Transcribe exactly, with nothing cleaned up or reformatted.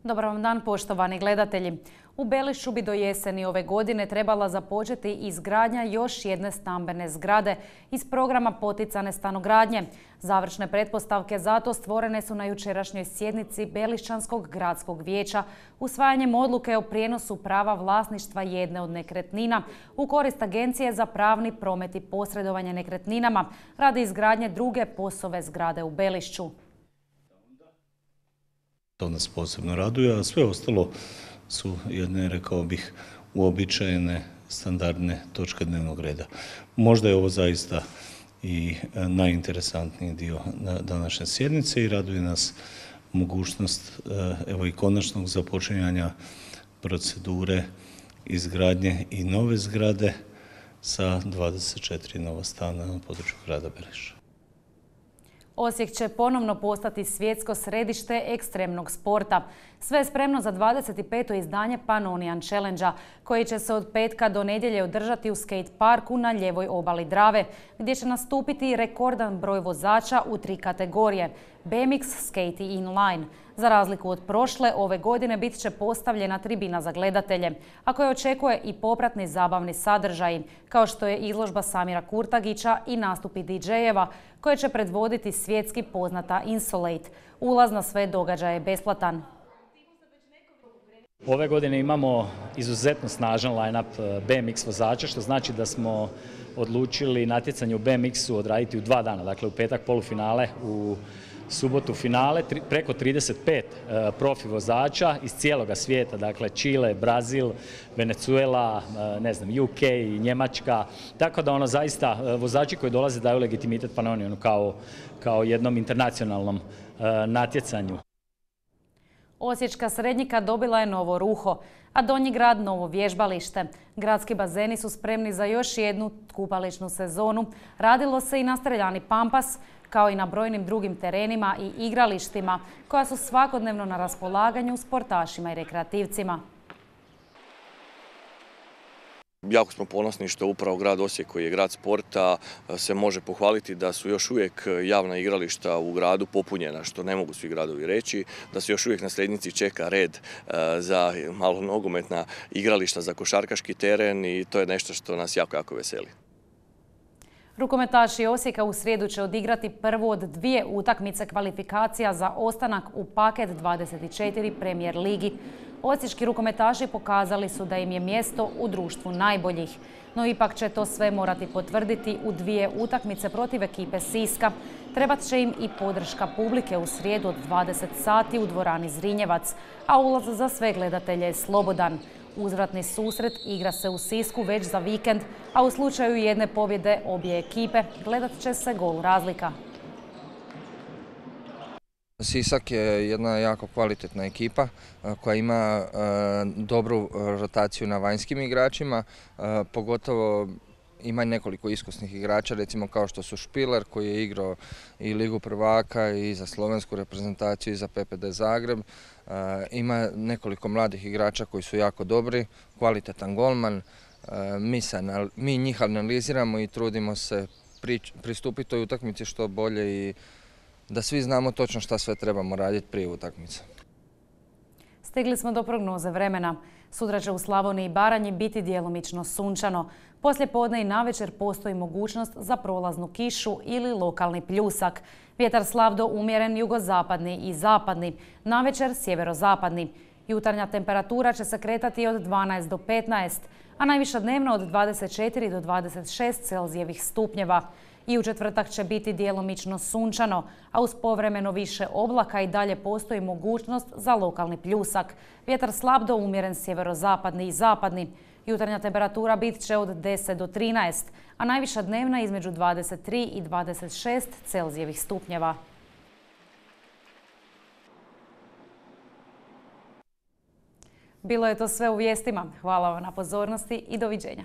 Dobar vam dan, poštovani gledatelji. U Belišću bi do jeseni ove godine trebala započeti izgradnja još jedne stambene zgrade iz programa poticane stanogradnje. Završne pretpostavke za to stvorene su na jučerašnjoj sjednici Belišćanskog gradskog vijeća usvajanjem odluke o prijenosu prava vlasništva jedne od nekretnina u korist Agencije za pravni promet i posredovanje nekretninama radi izgradnje druge POS-ove zgrade u Belišću. To nas posebno raduje, a sve ostalo su jedne, rekao bih, uobičajene standardne točke dnevnog reda. Možda je ovo zaista i najinteresantniji dio današnje sjednice i raduje nas mogućnost evo i konačnog započinjanja procedure izgradnje i nove zgrade sa dvadeset četiri nova stana na području grada Belišća. Osijek će ponovno postati svjetsko središte ekstremnog sporta. Sve je spremno za dvadeset peto izdanje Pannonian Challenge-a, koji će se od petka do nedjelje održati u skate parku na lijevoj obali Drave, gdje će nastupiti rekordan broj vozača u tri kategorije – B M X, skate i inline. Za razliku od prošle, ove godine bit će postavljena tribina za gledatelje, a koje očekuje i popratni zabavni sadržaji, kao što je izložba Samira Kurtagića i nastupi D J-eva, koje će predvoditi svjetski poznata Insolate. Ulaz na sve događaje je besplatan. Ove godine imamo izuzetno snažan line-up B M X vozača, što znači da smo odlučili natjecanje u B M X-u odraditi u dva dana, dakle u petak polufinale, u subotu finale, preko trideset pet profi vozača iz cijeloga svijeta, dakle Čile, Brazil, Venezuela, ne znam, U K, Njemačka, tako da ono zaista vozači koji dolaze daju legitimitet Pannonianu kao, kao jednom internacionalnom natjecanju. Osječka Srednjika dobila je novo ruho, a Donji grad novo vježbalište. Gradski bazeni su spremni za još jednu kupališnu sezonu. Radilo se i na streljani Pampas, kao i na brojnim drugim terenima i igralištima, koja su svakodnevno na raspolaganju sportašima i rekreativcima. Jako smo ponosni što upravo grad Osijek, koji je grad sporta, se može pohvaliti da su još uvijek javna igrališta u gradu popunjena, što ne mogu svi gradovi reći, da se još uvijek na Srednjici čeka red za malo nogometna igrališta, za košarkaški teren i to je nešto što nas jako, jako veseli. Rukometaši Osijeka u srijedu će odigrati prvu od dvije utakmice kvalifikacija za ostanak u paket dvadeset četiri Premier ligi. Osječki rukometaši pokazali su da im je mjesto u društvu najboljih, no ipak će to sve morati potvrditi u dvije utakmice protiv ekipe Siska. Trebat će im i podrška publike u srijedu od dvadeset sati u dvorani Zrinjevac, a ulaz za sve gledatelje je slobodan. Uzvratni susret igra se u Sisku već za vikend, a u slučaju jedne pobjede obje ekipe gledat će se gol razlika. Sisak je jedna jako kvalitetna ekipa koja ima dobru rotaciju na vanjskim igračima, pogotovo ima nekoliko iskusnih igrača, recimo kao što su Špiler koji je igrao i Ligu prvaka i za slovensku reprezentaciju i za P P D Zagreb. Ima nekoliko mladih igrača koji su jako dobri, kvalitetan golman. Mi, se, mi njih analiziramo i trudimo se pristupiti toj utakmici što bolje i da svi znamo točno šta sve trebamo raditi prije utakmice. Stigli smo do prognoze vremena. Sutra će u Slavoniji i Baranji biti djelomično sunčano. Poslije podne i navečer postoji mogućnost za prolaznu kišu ili lokalni pljusak. Vjetar slab do umjeren jugozapadni i zapadni, navečer sjeverozapadni. Jutarnja temperatura će se kretati od dvanaest do petnaest, a najviša dnevno od dvadeset četiri do dvadeset šest Celzijevih stupnjeva. I u četvrtak će biti djelomično sunčano, a uz povremeno više oblaka i dalje postoji mogućnost za lokalni pljusak. Vjetar slab do umjeren sjeverozapadni i zapadni. Jutarnja temperatura bit će od deset do trinaest, a najviša dnevna između dvadeset tri i dvadeset šest Celzijevih stupnjeva. Bilo je to sve u vijestima. Hvala vam na pozornosti i doviđenja.